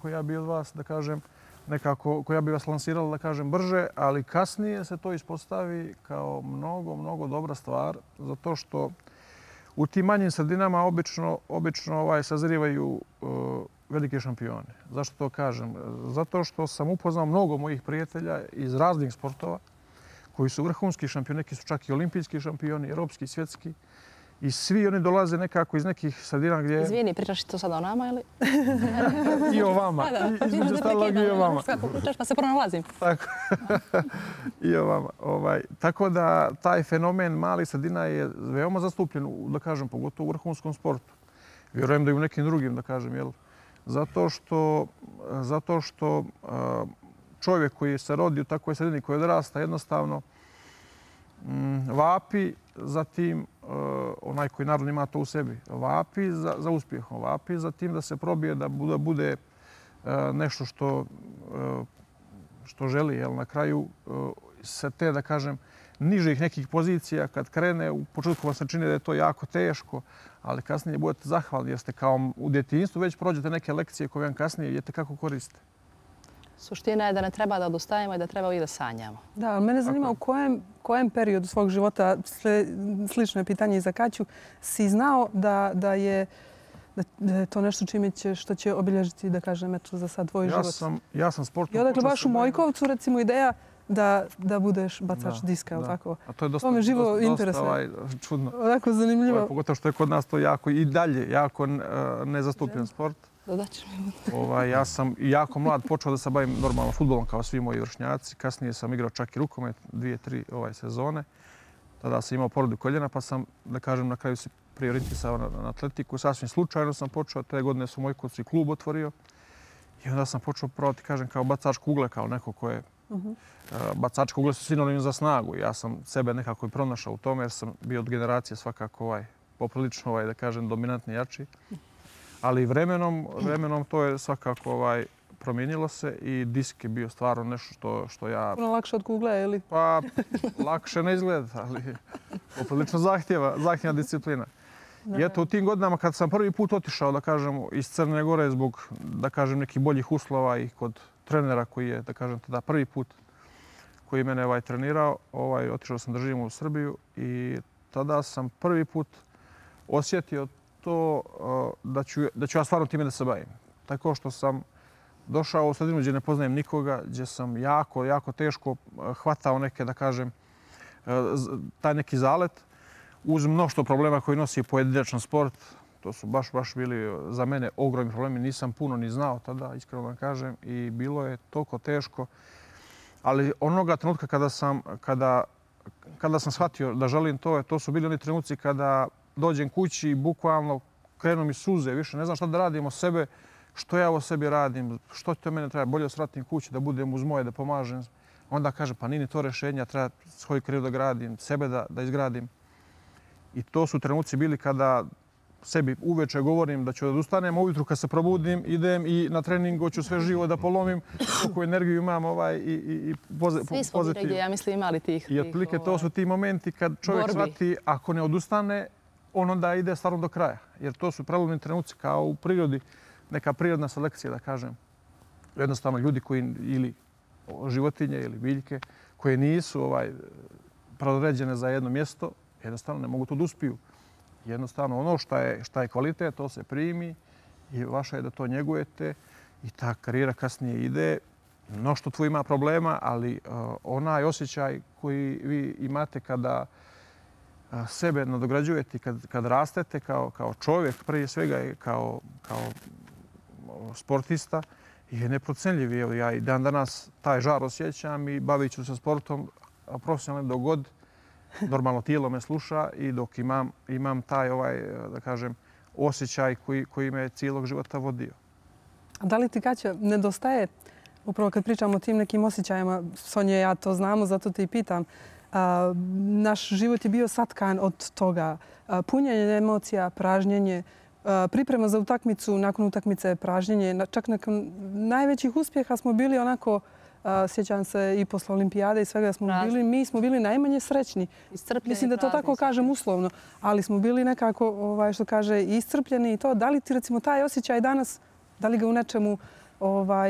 koja bi od vas, da kažem, nekako, koja bi vas lansirala, da kažem, brže, ali kasnije se to ispostavi kao mnogo, mnogo dobra stvar, zato što u tim manjim sredinama obično sazrivaju velike šampione. Zašto to kažem? Zato što sam upoznao mnogo mojih prijatelja iz raznih sportova koji su vrhunski šampioni, neki su čak i olimpijski šampioni, europski, svjetski. I svi oni dolaze nekako iz nekih sredina gdje... Izvini, pričaš to sada o nama ili? I o vama. Između ostalog i o vama. Kako pričaš pa se pronalazim. Tako. I o vama. Tako da taj fenomen malih sredina je veoma zastupljen, da kažem, pogotovo u vrhunskom sportu. Vjerujem da i u nekim drugim, da kažem, jel? Zato što čovjek koji se rodi u takvoj sredini, koji odrasta, jednostavno vapi za tim, onaj koji naravno ima to u sebi, vapi za uspjehom, vapi za tim da se probije, da bude nešto što želi. Jel? Na kraju se te, da kažem, nižih nekih pozicija, kad krene, u početku vam se čini da je to jako teško, ali kasnije budete zahvalni jer ste kao u djetinjstvu već prođete neke lekcije koje vam kasnije vidite kako koriste. Suština je da ne treba da odustajemo i da treba uvijek da sanjamo. Da, ali mene zanima u kojem periodu svog života, slično je pitanje i za Kaću, si znao da je to nešto što će obilježiti, da kažem, eto, za sad tvoj život? Ja sam sportno... I odakle baš u Mojkovcu, recimo, ideja da budeš bacač diska, ili tako? A to je dosta čudno. Onako zanimljivo. Pogotovo što je kod nas to jako i dalje jako nezastupljen sport. Ja sam jako mlad počeo da se bavim normalno fudbalom kao svi moji vršnjaci. Kasnije sam igrao čak i rukomet 2-3 sezone. Tada sam imao povredu koljena pa sam, da kažem, na kraju se prioritisao na atletiku. Sasvim slučajno sam počeo, te godine su Mojkovci klub otvorio. I onda sam počeo probati, kažem, kao bacač kugle, kao neko ko je... Bacač kugle su sinonim za snagu. Ja sam sebe nekako i pronašao u tome jer sam bio od generacije svakako poprilično, da kažem, dominantni jači. Ali vremenom to je svakako promijenilo se i disk je bio stvarno nešto što ja... Puno lakše od kugle, ili? Pa, lakše ne izgleda, ali poprilično zahtjeva disciplina. I eto, u tim godinama kad sam prvi put otišao, da kažem, iz Crne Gore zbog, da kažem, nekih boljih uslova i kod trenera koji je, da kažem, tada prvi put koji je mene trenirao, otišao sam da živim u Srbiju i tada sam prvi put osjetio to da ću ja stvarno time da se bavim. Tako što sam došao u sredinu gdje ne poznajem nikoga, gdje sam jako teško hvatao neke, da kažem, taj neki zalet uz mnoštvo problema koji nosi pojedinačan sport. To su baš bili za mene ogromni problemi. Nisam puno ni znao tada, iskreno vam kažem, i bilo je toliko teško. Ali onoga trenutka kada sam shvatio da želim to su bili oni trenuci kada dođem kući i bukvalno krenu mi suze, više ne znam šta da radim o sebe, što ja o sebi radim, što to mene treba, bolje osvratim kući, da budem uz moje, da pomažem. Onda kažem, pa nije ni to rješenje, treba svoju karijeru da gradim, sebe da izgradim. I to su trenuci bili kada sebi uveče govorim da ću da odustanem, a ujutru kad se probudim idem i na treningu ću sve živo da polomim, koliko energiju imam i pozitivno. Svi smo mi negdje, ja mislim, imali tih... I otprilike to su ti momenti kad čovjek shvati ako ne odustane, on onda ide stvarno do kraja. Jer to su prelomni trenuci kao u prirodi, neka prirodna selekcija, da kažem. Jednostavno ljudi koji ili životinje ili biljke koje nisu predodređene za jedno mjesto, jednostavno ne mogu to da uspiju. Jednostavno ono šta je kvalitet, to se primi i vaša je da to njegujete i ta karijera kasnije ide. Mnoštvo tu ima problema, ali onaj osjećaj koji vi imate kada sebe nadograđujete, kad rastete kao čovjek, prije svega kao sportista, je neprocenljiv. Ja i dan danas taj žar osjećam i bavit ću se sportom profesionalno dok god normalno tijelo me sluša i dok imam taj, da kažem, osjećaj koji me cijelog života vodio. A da li ti, Kaća, nedostaje, upravo kad pričamo o tim nekim osjećajima, Sonja, ja to znamo, zato te i pitam, naš život je bio satkan od toga. Punjenje emocija, pražnjenje, priprema za utakmicu, nakon utakmice pražnjenje. Čak nakon najvećih uspjeha smo bili onako, sjećam se i posle olimpijade i svega smo bili, mi smo bili najmanje srećni. Mislim da to tako kažem uslovno, ali smo bili nekako, što kaže, iscrpljeni i to. Da li ti recimo taj osjećaj danas, da li ga u nečemu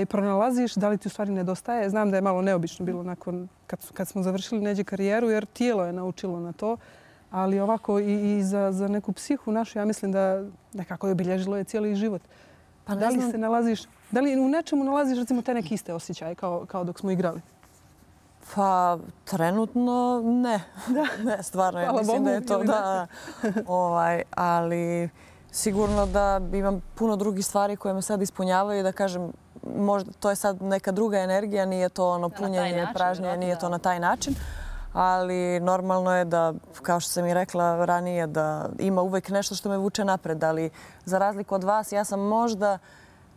pronalaziš, da li ti u stvari nedostaje? Znam da je malo neobično bilo nakon kad smo završili neđe karijeru, jer tijelo je naučilo na to. Ali ovako i za neku psihu našu, ja mislim da nekako je obilježilo je cijeli život. Da li se nalaziš, da li u nečemu nalaziš recimo te neke iste osjećaje kao dok smo igrali? Pa trenutno ne. Ne, stvarno. Ja mislim da je to da. Ali sigurno da imam puno drugih stvari koje me sad ispunjavaju i da kažem, možda to je sad neka druga energija, nije to ono punjenje, pražnjenje, nije to na taj način. Ali normalno je da, kao što sam i rekla ranije, da ima uvijek nešto što me vuče napred. Ali za razliku od vas, ja sam možda,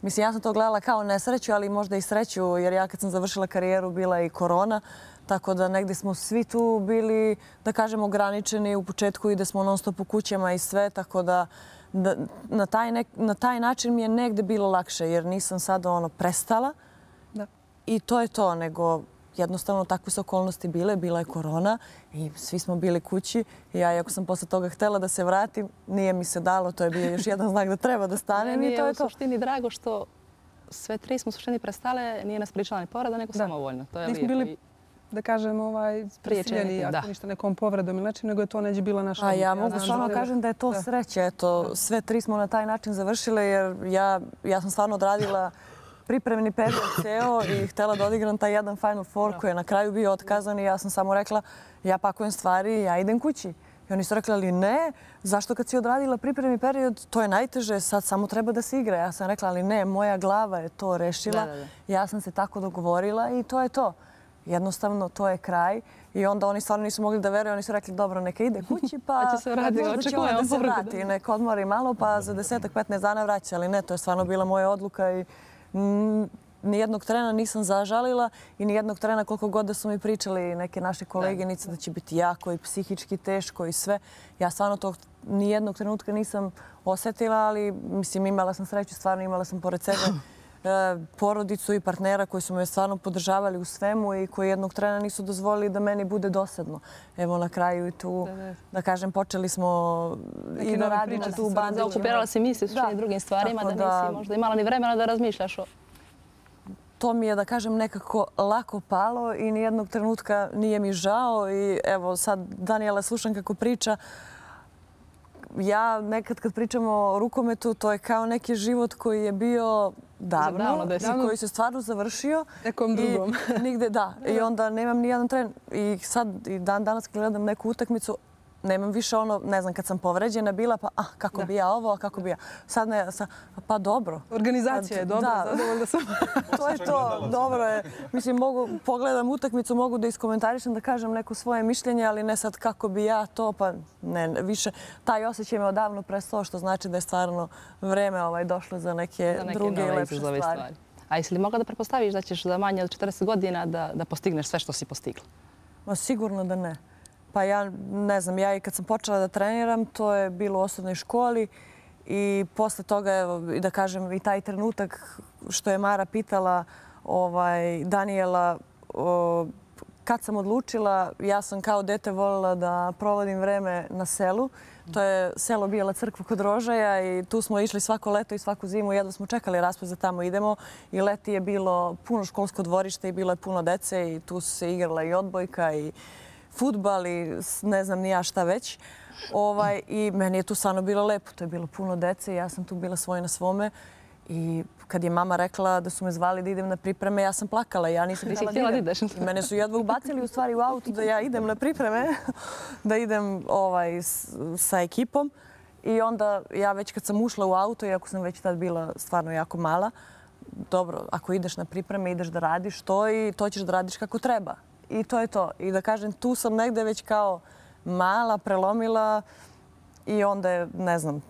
mislim, ja sam to gledala kao nesreću, ali možda i sreću, jer ja kad sam završila karijeru bila je i korona, tako da negdje smo svi tu bili, da kažem, ograničeni u početku i da smo non stop u kućama i sve, tako da na taj način mi je negdje bilo lakše, jer nisam sad prestala i to je to, nego jednostavno takve su okolnosti bile, bila je korona i svi smo bili kući. Ja, iako sam posle toga htjela da se vratim, nije mi se dalo, to je bio još jedan znak da treba da stanem i to je to. U suštini drago što sve tri smo u suštini prestale, nije nas pričala ni povreda, nego samovoljno. To je lijepo. Nismo bili, da kažem, prisiljeni, ako ništa nekom povredom ili nečim, nego je to neđe bila naša... A ja mogu stvarno kažem da je to sreće. Eto, sve tri smo na taj način završile, jer ja sam stvarno odradila pripremni period ceo i htjela da odigram taj jedan Final Four koji je na kraju bio otkazan i ja sam samo rekla ja pakujem stvari, ja idem kući. I oni su rekli, ali ne, zašto kad si odradila pripremni period, to je najteže, sad samo treba da se igra. Ja sam rekla, ali ne, moja glava je to rešila, ja sam se tako dogovorila i to je to. Jednostavno, to je kraj. I onda oni stvarno nisu mogli da veruju, oni su rekli, dobro, neka ide kući, pa možda će ovaj da se vrati, neka odmori malo, pa za 10-15 dana vraća. Ali ne, to je stvarno bila moja odluka i nijednog trena nisam zažalila i nijednog trena koliko god da su mi pričali neke naše koleginice da će biti jako i psihički teško i sve. Ja stvarno to nijednog trenutka nisam osjetila, ali mislim imala sam sreću, stvarno imala sam pored sebe porodicu i partnera koji su me stvarno podržavali u svemu i koji jednog trena nisu dozvolili da meni bude dosadno. Evo na kraju i tu, da kažem, počeli smo i da radimo tu u bandićima. Zaokupirala si misli s drugim stvarima, da nisi možda imala ni vremena da razmišljaš o... To mi je, da kažem, nekako lako palo i nijednog trenutka nije mi žao. I evo sad Danijela slušam kako priča. Ja nekad kad pričamo o rukometu, to je kao neki život koji je bio davno i koji se stvarno završio. Nekom drugom. Nigde, da. I onda nemam nijedan tren. I sad i danas kad gledam neku utakmicu, nemam više ono, ne znam, kad sam povređena bila, pa kako bi ja ovo, a kako bi ja... Sad ne, pa dobro. Organizacija je dobra, zadovoljna sam. To je to, dobro je. Mislim, pogledam utakmicu, mogu da iskomentarišem, da kažem neko svoje mišljenje, ali ne sad kako bi ja to, pa ne, više. Taj osjećaj me odavno prestao, što znači da je stvarno vreme došlo za neke druge i lepše stvari. A jesi li mogla da pretpostaviš da ćeš za manje od 40 godina da postigneš sve što si postigla? Sigurno da ne. Pa ja ne znam, ja i kad sam počela da treniram, to je bilo u osnovnoj školi i posle toga, da kažem, i taj trenutak što je Mara pitala Danijela, kad sam odlučila, ja sam kao dete voljela da provodim vreme na selu. To je selo Bijela Crkva kod Rožaja i tu smo išli svako leto i svaku zimu. Jedva smo čekali raspust da tamo idemo i leti je bilo puno školsko dvorište i bilo je puno dece i tu se igrala i odbojka i fudbal i ne znam ni ja šta već. I meni je tu stvarno bilo lepo. To je bilo puno dece i ja sam tu bila svoj na svome. I kad je mama rekla da su me zvali da idem na pripreme, ja sam plakala. Ja nisam htjela da idem. Mene su jedva ubacili u stvari u auto da ja idem na pripreme, da idem sa ekipom. I onda ja već kad sam ušla u auto, iako sam već tad bila stvarno jako mala, dobro, ako ideš na pripreme, ideš da radiš to i to ćeš da radiš kako treba. I to je to. I da kažem, tu sam negde već kao mala, prelomila i onda je, ne znam,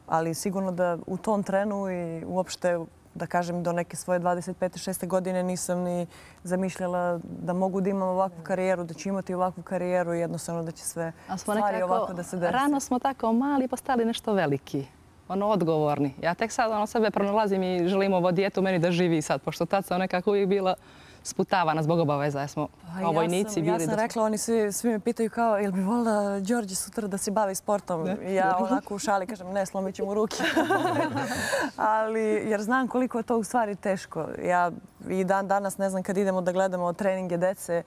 ali sigurno da u tom trenu i uopšte, da kažem, do neke svoje 25. 6. godine nisam ni zamišljala da mogu da imam ovakvu karijeru, da ću imati ovakvu karijeru i jednostavno da će sve stvari ovako da se desi. Rano smo tako mali postali nešto veliki. odgovorni. Ja tek sad sebe pronalazim i želim ovo dijete u meni da živi sad, pošto tad sam nekako uvijek bila sputavana zbog obaveza, jer smo kao vojnici bili. Ja sam rekla, oni svi me pitaju kao, jel bi volila Đorđe sutra da se bavi sportom? Ja onako u šali kažem, ne, slomit ću mu ruke. Jer znam koliko je to u stvari teško. Ja i dan danas, ne znam, kad idemo da gledamo treninge dece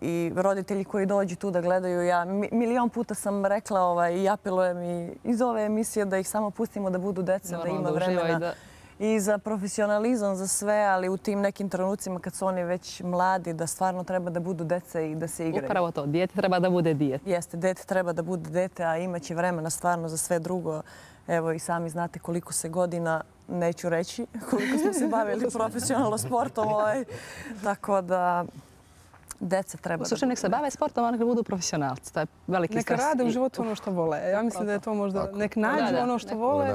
i roditelji koji dođu tu da gledaju, ja milion puta sam rekla i apelujem i iz ove emisije da ih samo pustimo da budu deca, da ima vremena. I za profesionalizam, za sve, ali u tim nekim trenucima kad su oni već mladi, da stvarno treba da budu dece i da se igraju. Upravo to, dijete treba da bude dijete. Jeste, dete treba da bude dete, a imaće vremena stvarno za sve drugo. Evo i sami znate koliko se godina, neću reći, koliko smo se bavili profesionalno sportom. Tako da deca treba da budu. Nek se bave sportom, a nek budu profesionalci. To je veliki stres. Neka rade u životu ono što vole. Ja mislim da je to možda nek nađu ono što vole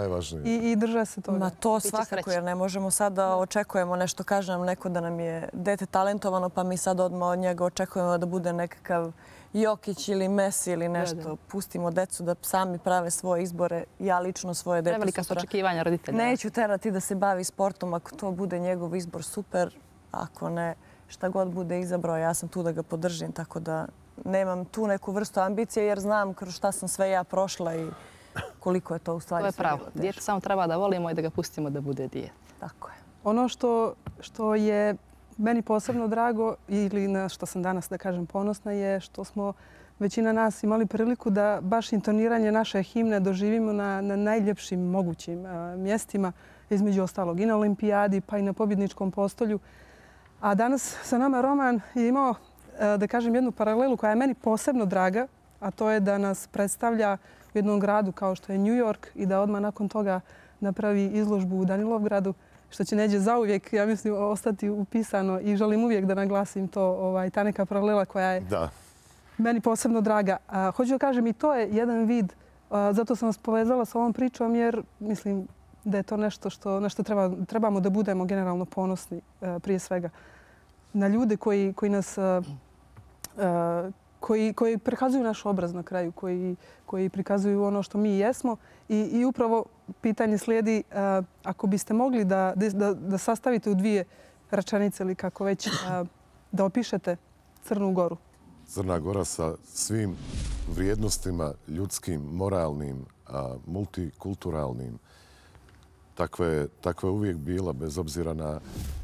i drže se toga. Ma to svakako, jer ne možemo sad da očekujemo nešto, kaže nam neko da nam je dete talentovano, pa mi sad odmah od njega očekujemo da bude nekakav Jokić ili Messi ili nešto. Pustimo decu da sami prave svoje izbore. Ja lično svoje dete prevelika su očekivanja roditelja. Neću terati da se bavi sportom. Ako to bude njegov izbor, super. Ako ne, šta god bude izabrao, ja sam tu da ga podržim, tako da nemam tu neku vrstu ambicije jer znam kroz šta sam sve ja prošla i koliko je to u stvari sve bilo teško. To je pravo. Dijete samo treba da volimo i da ga pustimo da bude dijete. Tako je. Ono što je meni posebno drago ili na što sam danas, da kažem, ponosna je što smo većina nas imali priliku da baš intoniranje naše himne doživimo na najljepšim mogućim mjestima, između ostalog i na olimpijadi pa i na pobjedničkom postolju. A danas sa nama Roman je imao, da kažem, jednu paralelu koja je meni posebno draga, a to je da nas predstavlja u jednom gradu kao što je New York i da odmah nakon toga napravi izložbu u Danilovgradu, što će Neđe zauvijek, ja mislim, ostati upisano i želim uvijek da naglasim to, ta neka paralela koja je meni posebno draga. Hoću da kažem i to je jedan vid, zato sam vas povezala sa ovom pričom jer mislim da je to nešto na što trebamo da budemo generalno ponosni prije svega. Na ljude koji nas, koji prikazuju naš obraz na kraju, koji prikazuju ono što mi jesmo. I upravo pitanje slijedi, ako biste mogli da sastavite u dvije rečenice ili kako već, da opišete Crnu Goru. Crna Gora sa svim vrijednostima ljudskim, moralnim, multikulturalnim. Takva je uvijek bila, bez obzira na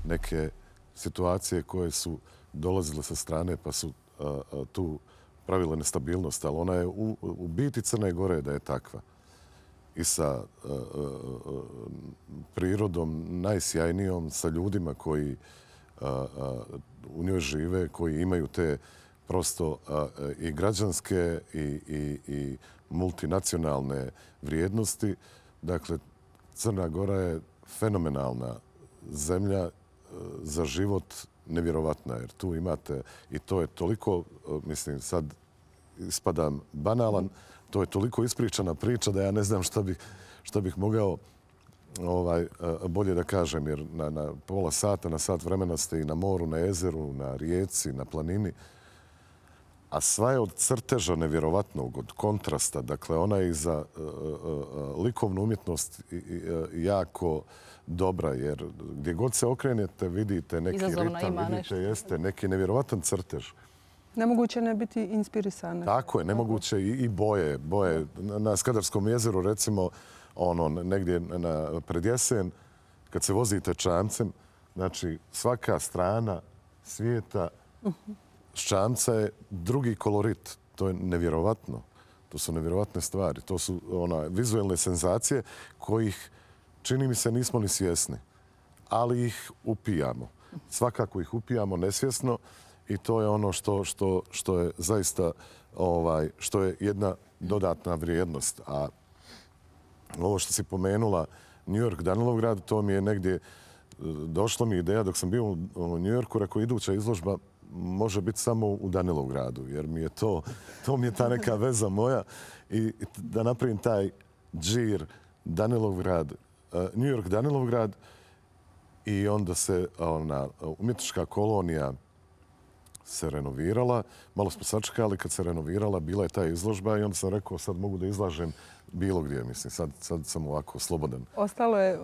neke situacije koje su dolazile sa strane pa su tu pravile nestabilnost. Ali ona je u biti Crne Gore da je takva. I sa prirodom najsjajnijom, sa ljudima koji u njoj žive, koji imaju te prosto i građanske i multinacionalne vrijednosti. Dakle, Crna Gora je fenomenalna zemlja za život, nevjerovatna, jer tu imate, i to je toliko, mislim, sad ispadam banalan, to je toliko ispričana priča da ja ne znam šta bih mogao bolje da kažem, jer na pola sata, na sat vremena ste i na moru, na jezeru, na rijeci, na planini. A sva je od crteža nevjerovatnog, od kontrasta. Dakle, ona je i za likovnu umjetnost jako dobra, jer gdje god se okrenete vidite neki ritam, vidite neki nevjerovatan crtež. Nemoguće ne biti inspirisane. Tako je, nemoguće i boje. Na Skadarskom jezeru, recimo, negdje pred jesen, kad se vozite čamcem, znači svaka strana svijeta ščamca je drugi kolorit. To je nevjerovatno. To su nevjerovatne stvari. To su vizualne senzacije kojih, čini mi se, nismo ni svjesni. Ali ih upijamo. Svakako ih upijamo nesvjesno i to je ono što je zaista što je jedna dodatna vrijednost. A ovo što si pomenula, New York, Danilovgrad, to mi je negdje došla mi ideja dok sam bio u New Yorku, rekao iduća izložba može biti samo u Danilovgradu, jer mi je to mi je ta neka veza moja i da napravim taj džir Danilovgrad, New York, Danilovgrad i onda se umjetnička kolonija se renovirala. Malo smo sačekali kad se renovirala, bila je ta izložba i onda sam rekao sad mogu da izlažem bilo gdje, mislim. Sad sam ovako slobodan. Ostalo je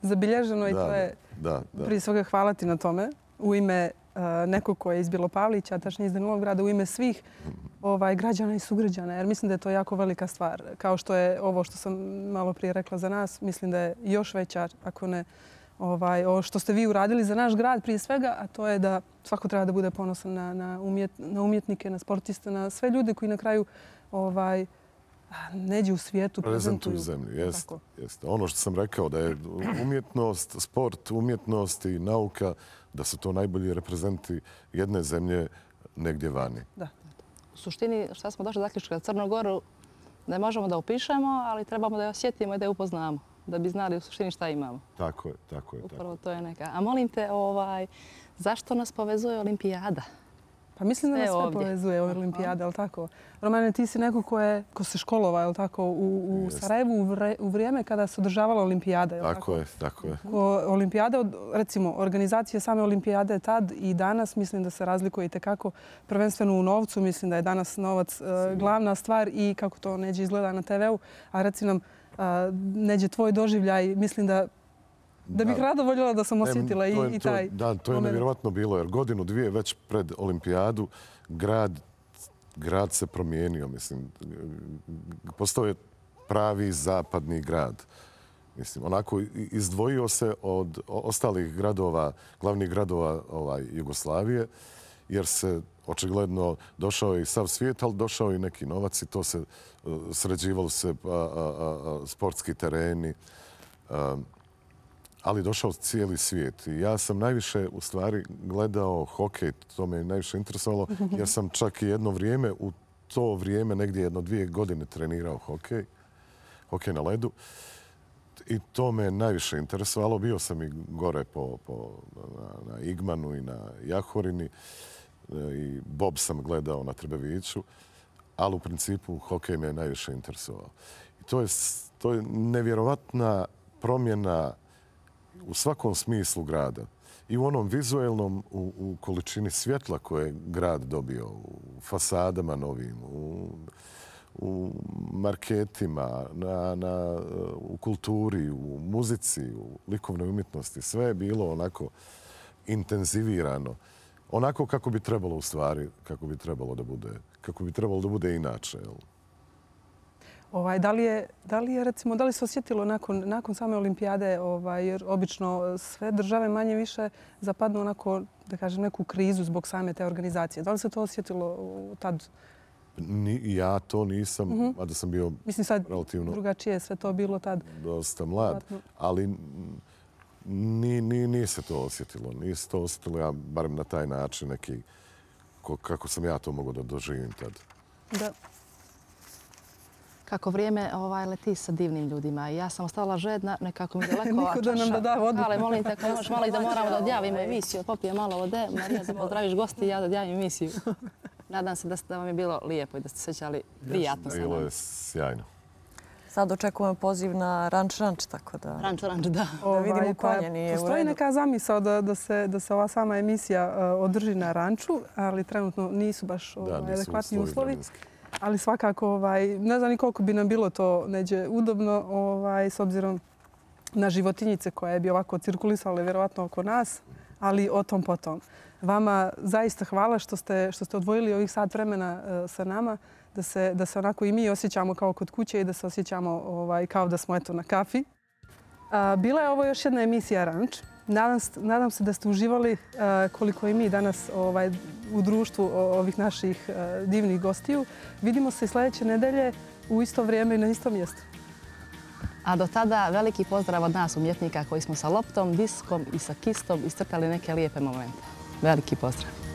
zabilježeno i to je prije svega hvala ti na tome. U ime nekog ko je iz Belopavlića, tačnije iz Novog Grada, u ime svih građana i sugrađana. Jer mislim da je to jako velika stvar. Kao što je ovo što sam malo prije rekla za nas, mislim da je još veća, ako ne ovo što ste vi uradili za naš grad prije svega, a to je da svako treba da bude ponosan na umjetnike, na sportiste, na sve ljude koji na kraju neđe u svijetu prezentuju zemlju. Jeste. Ono što sam rekao da je umjetnost, sport, umjetnost i nauka, da su to najbolji reprezenti jedne zemlje negdje vani. Da. U suštini, šta smo došli do zaključka za Crnu Goru, ne možemo da upišemo, ali trebamo da je osjetimo i da je upoznamo, da bi znali u suštini šta imamo. Tako je. Upravo to je neka. A molim te, zašto nas povezuje olimpijada? Pa mislim da nas sve povezuje olimpijada, ali tako? Romane, ti si neko ko se školovao, ali tako, u Sarajevu u vrijeme kada se održavala olimpijada, je li tako? Tako je. Olimpijada, recimo, organizacija same olimpijade tad i danas, mislim da se razlikuje i tekako prvenstveno u novcu. Mislim da je danas novac glavna stvar i kako to neđe izgleda na TV-u. A reci nam, neđe tvoj doživljaj, mislim da bih rado voljela da sam osjetila i taj moment. Da, to je nevjerovatno bilo, jer godinu, dvije već pred olimpijadu grad se promijenio, mislim. Postao je pravi zapadni grad. Mislim, onako izdvojio se od ostalih gradova, glavnih gradova Jugoslavije, jer se očigledno došao i sav svijet, ali došao i neki novac i to se sređivalo se sportski tereni, ali došao cijeli svijet. I ja sam najviše u stvari gledao hokej, to me najviše interesovalo, jer sam čak i jedno vrijeme, u to vrijeme, negdje 1-2 godine trenirao hokej na ledu. I to me najviše interesovalo. Bio sam i gore na Igmanu i na Jahorini. I bob sam gledao na Trbeviću. Ali u principu hokej me najviše interesovao. I to je nevjerovatna promjena u svakom smislu grada. I u onom vizuelnom, u količini svjetla koje je grad dobio, u fasadama novim, u marketima, u kulturi, u muzici, u likovnoj umjetnosti. Sve je bilo onako intenzivirano. Onako kako bi trebalo u stvari, kako bi trebalo da bude inače. Da li se osjetilo nakon same olimpijade, jer obično sve države manje više zapadnu onako, da kažem, neku krizu zbog same te organizacije. Da li se to osjetilo tad? Ja to nisam, a da sam bio relativno... Drugačije je sve to bilo tad. Dosta mlad, ali nije se to osjetilo. Nije se to osjetilo, ja barem na taj način neki, kako sam ja to mogao da doživim tad. Da. Kako vrijeme leti sa divnim ljudima. Ja sam ostala žedna, nekako mi daleko ova čaša. Niko da nam da da vodu. Ali molim te, ako možeš malo i da moramo da odjavimo emisiju, popijem malo vode. Marija, da pozdraviš gosti i ja da odjavim emisiju. Nadam se da vam je bilo lijepo i da ste se sjećali prijatno sa nama. Bilo je sjajno. Sad očekujemo poziv na ranč, tako da... Ranč, da. Da vidimo konje, nije u redu. Postoji neka zamisao da se ova sama emisija održi na ranču, ali trenutno nisu baš adekvatni uslovi. Ali svakako, ne znam ni koliko bi nam bilo to neđe udobno, s obzirom na životinjice koje bi ovako cirkulisale vjerovatno oko nas, ali o tom potom. Vama zaista hvala što ste odvojili ovih sat vremena sa nama, da se onako i mi osjećamo kao kod kuće i da se osjećamo kao da smo na kafi. Bila je ovo još jedna emisija Ranč. Nadam se da ste uživali koliko i mi danas u društvu ovih naših divnih gostiju. Vidimo se sljedeće nedelje u isto vrijeme i na istom mjestu. A do tada veliki pozdrav od nas umjetnika koji smo sa loptom, diskom i sa kistom iscrtali neke lijepe momente. Veliki pozdrav.